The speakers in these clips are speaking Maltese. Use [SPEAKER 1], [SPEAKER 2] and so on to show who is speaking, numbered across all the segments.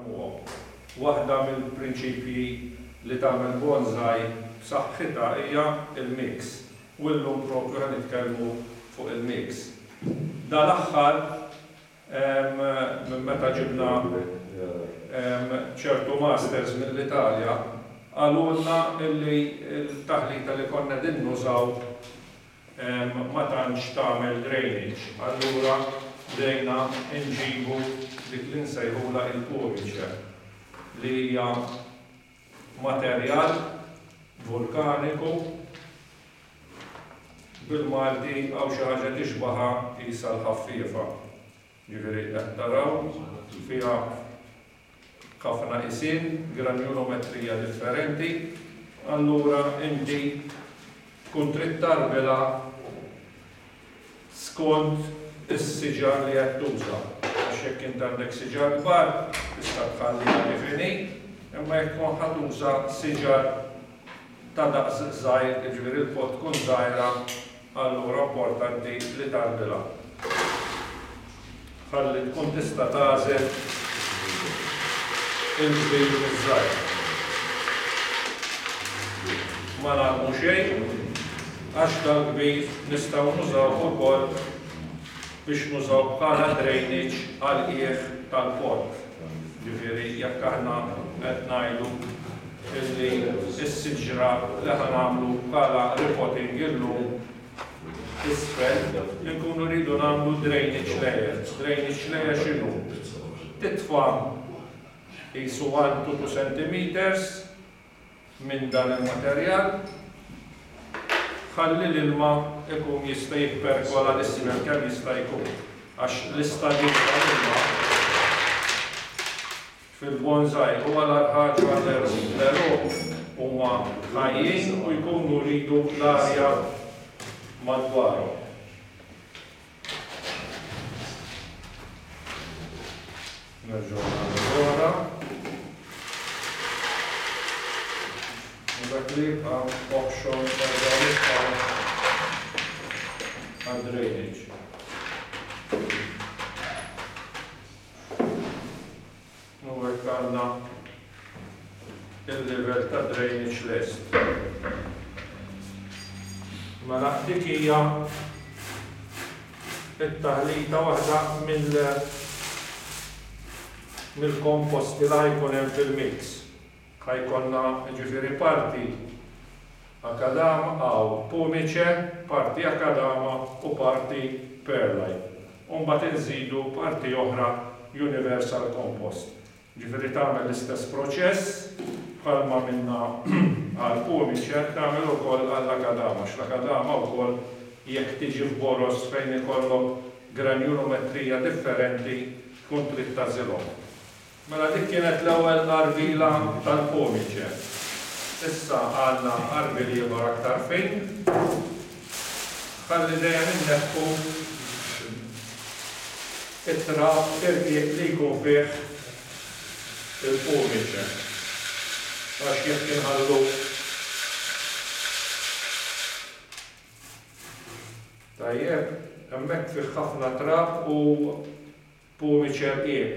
[SPEAKER 1] Narmuhom. Waħda mill-prinċipji li tagħmel bonsai b'saħħitha hija l-mix. U llum propju ħa nitkellmu fuq il-mix. Dal-aħħar minn meta ġibna ċertu masters mill-Italja qalulna illi l-taħlita li konna qegħdin nużaw ma tantx tagħmel drainage, allura bdejna nġibu dik li nsejħulha il-pumice, li hija materjal vulkaniku, bil-Malti hawn xi ħaġa tixbaha qisha l-ħaffiefa. Jiġifieri qed taraw fiha ħafna qisien, granjulometrija differenti, allura inti tkun trid tgħarbilha skont is-siġar li qed tuża. Għax jekk int għandek siġar kbar tista' tħalliha kif inhi, imma jekk tkun ħa tuża siġar ta' daqs żgħir, jiġifieri l-pot tkun żgħira, Allura importanti li tgħarbilha ħalli tkun tista' tagħżel il-kbir miż-żgħir. Ma narmu xejn għax dal-kbir nistgħu nużawh ukoll biex nużaw bħala drainage għall-qiegħ tal-pott. Ġifieri jekk aħna qed ngħidu illi s-siġra li ħa nagħmlu bħala repotting illum isfel, inkunu rridu nagħmlu drainage layer. Drainage layer x'inhu? Titfa' qisu 1 to 2 centimetres minn dan il-materjal, ħalli l-ilma jkun jista' jipperkola 'l isfel kemm jista' jkun, għax l-istagħġib tal-ilma fil-bonsai huwa l-agħar ħaġa għall-għeruq. L-għeruq huma ħajjin u jkunu jridu l-arja madwarhom. Nerġgħu nagħmlu l-oħra. U dak li jibqa' oħxon nerġgħu nitfgħu għad-drainage. U hekk għandna il-livell ta' drainage lest. Mela dik hija t-taħlita waħda mill mill-komposti li ħa jkun hemm fil-mix. Ħa jkollna jiġifieri parti akadama aw pumice, parti akadama u parti perlite. U mbagħad inżidu parti oħra universal compost. Jiġifieri tagħmel l-istess proċess bħalma għamilna għall-pumice, tagħmel ukoll għall-akadama għax l-akadama wkoll jekk tiġi f'boroż fejn ikollok granjulometrija differenti tkun trid tagħżilhom. Mela dik kienet l-ewwel għarbila tal-pumice. Issa għandna għarbil ieħor aktar fin. Ħalli dejjem inneħħu it-trab irqiq li jkun fih il-pumice. Għax jekk inħallu Tajjeb, hemmhekk fih ħafna trab u Pumice rqiq.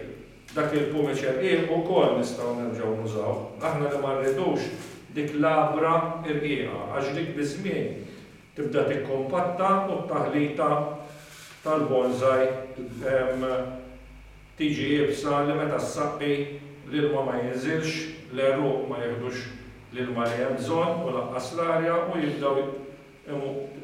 [SPEAKER 1] Dak il-pumice rqiq ukoll nistgħu nerġgħu nużawh. Aħna li ma rridux dik l-għabra rqiqa għax dik biż-żmien tibda tikkumpatta u t-taħlita tal-bonsai tiġi iebsa li meta ssaqqi l-ilma ma jinżilx, l-għeruq ma jieħdux l-ilma li hemm bżonn u lanqas l-arja u jibdew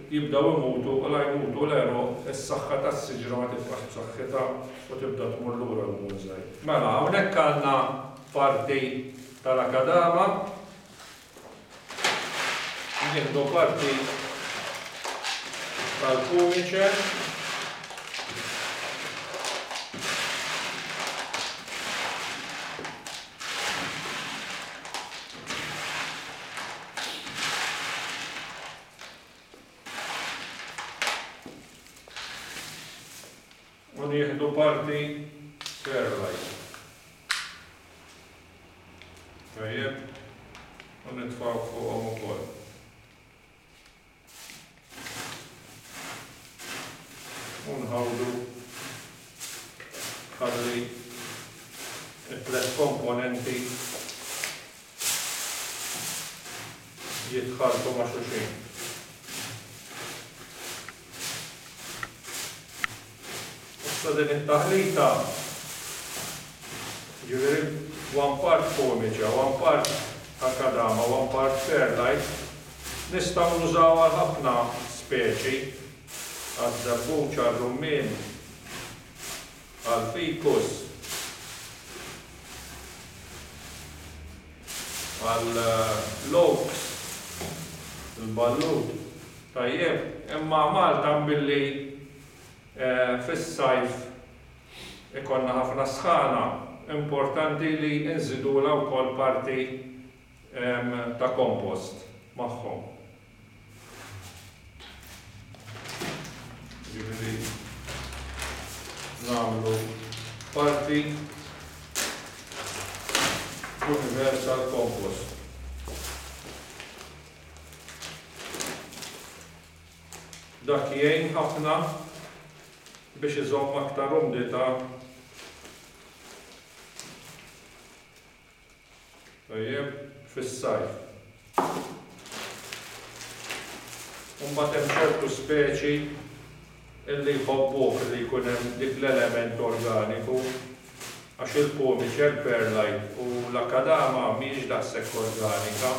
[SPEAKER 1] jibdew imutu u la jmutu l-għeruq, is-saħħa tas-siġra ma tibqax b'saħħitha u tibda tmur lura l-bonsai. Mela, hawnhekk għandna parti tal-akadama, nieħdu parti tal-pumice, U nieħdu parti perlite. Tajjeb, u nitfgħu fuqhom ukoll. U nħawdu ħalli. It-tlett komponenti jitħalltu ma' xulxin. Issa din it-taħlita, jiġifieri one part pomice, one part akadama, one part perlite, nistgħu nużawha għal ħafna speċi, għaż-żebbuġ, għar-rummien, għall-ficus, għall-oaks, il-ballut. Tajjeb, imma Malta billi fis-sajf ikollna ħafna sħana, importanti li nżidulha wkoll parti ta' kompost magħhom. Jiġifieri nagħmlu parti universal compost. Dak jgħin ħafna biex iżomm aktar umdità tajjeb fis-sajf. U mbagħad hemm ċertu speċi illi jħobbuh li jkun hemm dik l-element organiku għax il-pumice, il-perlite u l-akadama mhijiex daqshekk organika.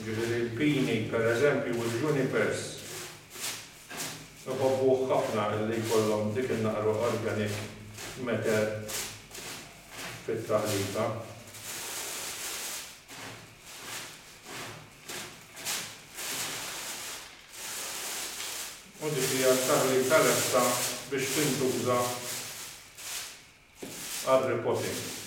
[SPEAKER 1] Jiġifieri l-pini, pereżempju, u l-junipers iħobbuh ħafna illi jkollhom dik in-naqra organic matter fit-taħlita. U dik hija t-taħlita lesta biex tintuża għar-repotting.